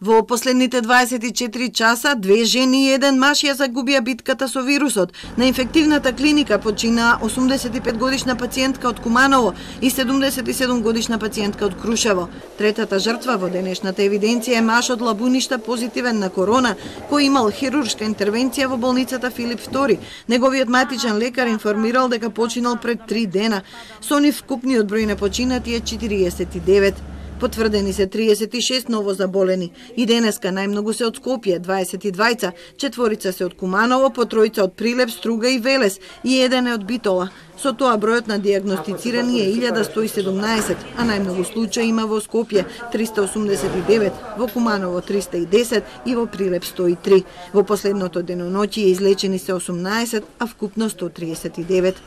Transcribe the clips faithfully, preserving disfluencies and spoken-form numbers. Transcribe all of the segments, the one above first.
Во последните дваесет и четири часа, две жени и еден маж ја загубија битката со вирусот. На инфективната клиника почина осумдесет и пет годишна пациентка од Куманово и седумдесет и седум годишна пациентка од Крушево. Третата жртва во денешната евиденција е маж од Лабуништа позитивен на корона, кој имал хируршка интервенција во болницата Филип втори. Неговиот матичен лекар информирал дека починал пред три дена. Со нив вкупниот број на починати е четириесет и девет. Потврдени се триесет и шест ново заболени. И денеска најмногу се од Скопје, дваесет и двајца, четворица се од Куманово, по тројца од Прилеп, Струга и Велес и еден е од Битола. Со тоа бројот на дијагностицирани е илјада сто и седумнаесет, а најмногу случаи има во Скопје триста осумдесет и девет, во Куманово триста и десет и во Прилеп сто и три. Во последното деноноќие излечени се осумнаесет, а вкупно сто триесет и девет.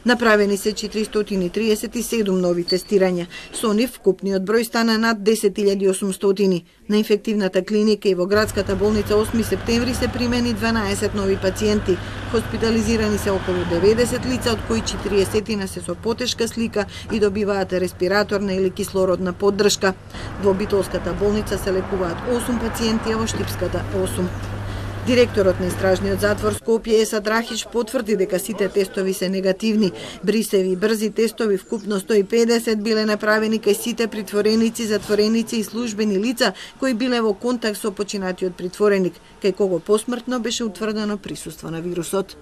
Направени се четиристотини и триесет и седум нови тестирања. Со нив вкупниот број стана над десет илјади и осумстотини. На инфективната клиника и во градската болница осми септември се примени дванаесет нови пациенти. Хоспитализирани се околу деветдесет лица, од кои четириесет се со потешка слика и добиваат респираторна или кислородна поддршка. Во Битолската болница се лекуваат осум пациенти, а во Штипската осум. Директорот на Истражниот затвор Скопје Еса Драхич потврди дека сите тестови се негативни. Брисеви брзи тестови вкупно сто и педесет биле направени кај сите притвореници, затвореници и службени лица кои биле во контакт со починатиот притвореник, кај кого посмртно беше утврдено присуство на вирусот.